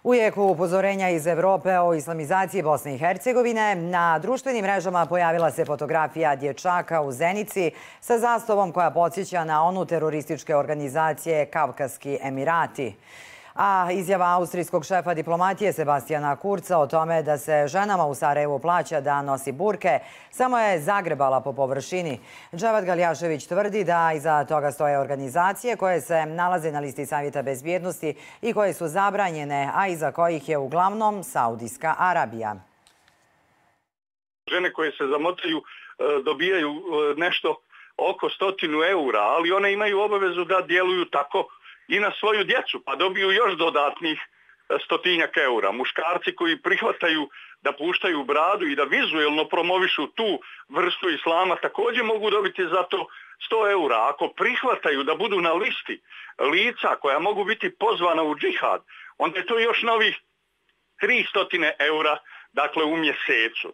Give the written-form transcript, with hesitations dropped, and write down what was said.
U jeku upozorenja iz Evrope o islamizaciji Bosne i Hercegovine, na društvenim mrežama pojavila se fotografija dječaka u Zenici sa zastavom koja podsjeća na onu terorističke organizacije Kavkaski Emirati. A izjava austrijskog šefa diplomatije Sebastijana Kurca o tome da se ženama u Sarajevu plaća da nosi burke samo je zagrebala po površini. Dževat Galjašević tvrdi da iza toga stoje organizacije koje se nalaze na listi Savjeta bezbjednosti i koje su zabranjene, a iza kojih je uglavnom Saudijska Arabija. Žene koje se zamotaju dobijaju nešto oko 100 eura, ali one imaju obavezu da djeluju tako i na svoju djecu, pa dobiju još dodatnih 100 eura. Muškarci koji prihvataju da puštaju bradu i da vizuelno promovišu tu vrstu islama također mogu dobiti za to 100 eura. Ako prihvataju da budu na listi lica koja mogu biti pozvana u džihad, onda je to još novih 300 eura, dakle, u mjesecu.